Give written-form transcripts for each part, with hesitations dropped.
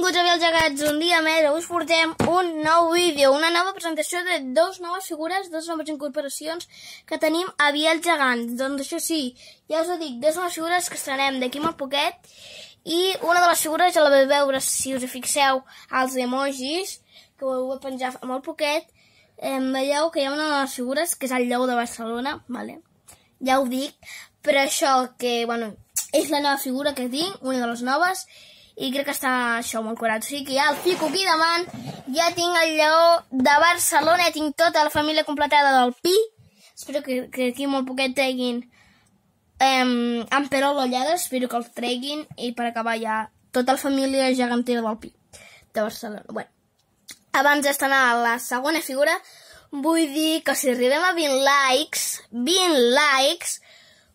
Benvinguts a Vials Gegants un dia més. Avui us portem un nou vídeo, una nova presentació de dues noves figures, dues noves incorporacions que tenim a Vials Gegants. Doncs això sí, ja us ho dic, dues noves figures que estrenem d'aquí molt poquet i una de les figures ja la vau veure si us fixeu als emojis, que ho heu penjat molt poquet. Veieu que hi ha una de les figures que és el Lleó de Barcelona, vale? Ja ho dic, però això que, bueno, és la nova figura que tinc, una de les noves, i crec que està això molt curat. O sigui que ja el fico aquí davant, ja tinc el Lleó de Barcelona, ja tinc tota la família completada del Pi. Espero que aquí molt poquet treguin en Perol Ollades, espero que els treguin, i per acabar ja tota la família gegantera del Pi de Barcelona. Bueno, abans d'estrenar la segona figura, vull dir que si arribem a 20 likes,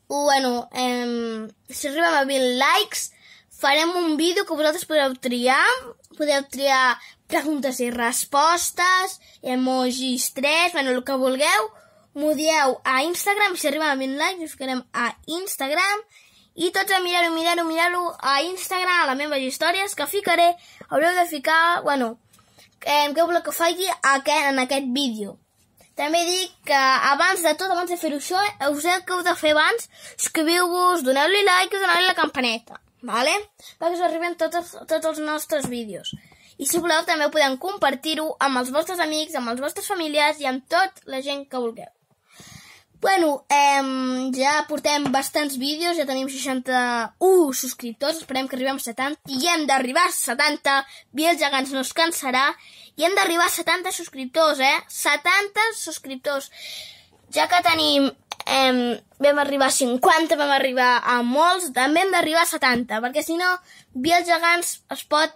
bueno, si arribem a 20 likes, farem un vídeo que vosaltres podeu triar preguntes i respostes, emojis 3, bueno, el que vulgueu, m'ho dieu a Instagram, si arribem a 20 likes, us ficarem a Instagram, i tots a mirar-ho a Instagram, a les meves històries, que ficaré, haureu de ficar, bueno, què voleu que faci en aquest vídeo. També dic que abans de tot, abans de fer això, us heu de fer abans, subscriviu-vos, doneu-li like i doneu-li la campaneta, vale? Perquè us arriben tots els nostres vídeos. I si voleu també podem compartir-ho amb els vostres amics, amb els vostres familiars i amb tota la gent que vulgueu. Bueno, ja portem bastants vídeos, ja tenim 61 subscriptors, esperem que arribem a 70, i hem d'arribar a 70, Vials Gegants no es cansarà, i hem d'arribar a 70 subscriptors, 70 subscriptors. Ja que tenim, vam arribar a 50, vam arribar a molts, també hem d'arribar a 70, perquè si no, Vials Gegants es pot...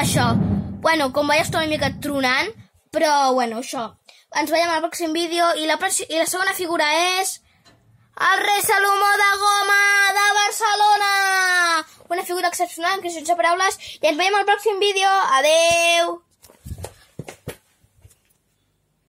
Això, bueno, com veieu estic una mica tronant, però bueno, això. Ens veiem al pròxim vídeo i la segona figura és el Rei Salomó de Goma de Barcelona. Una figura excepcional, que sense paraules, i ens veiem al pròxim vídeo. Adeu!